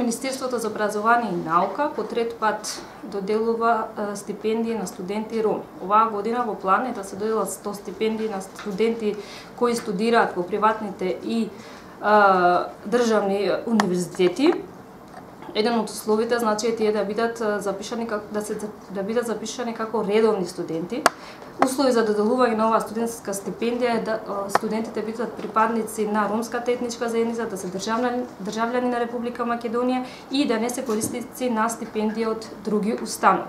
Министерството за образование и наука по трет пат доделува стипендии на студенти роми. Оваа година во план е да се доделат 100 стипендии на студенти кои студираат во приватните и државни универзитети. Еден од условите значи е тие да бидат запишани како редовни студенти. Услови за доделување на оваа студентска стипендија е да студентите бидат припадници на ромската етничка заедница, да се државјани на Република Македонија и да не се корисници на стипендија од други установи.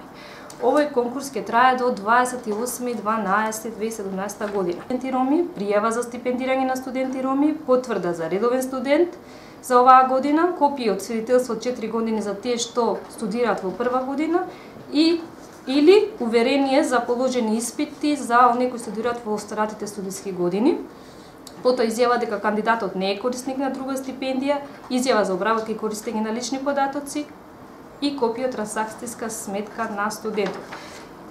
Овој конкурс ќе трае до 28.12.2017 година. Студенти роми, пријава за стипендирање на студенти роми, потврда за редовен студент за оваа година, копија од свидетелство од 4 години за тие што студираат во прва година или уверение за положени испити за оние кои студираат во старатите студиски години. Потоа изјава дека кандидатот не е корисник на друга стипендија, изјава за обработка и користење на лични податоци и копија од трансакцијска сметка на студентот.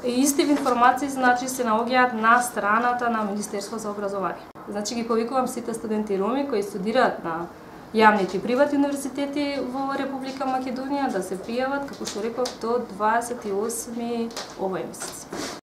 Исти информации значи се наоѓаат на страната на Министерството за образование. Значи ги повикувам сите студенти роми кои студираат на јавните и приватни универзитети во Република Македонија да се пријават, како што реков, до 28 овој месец.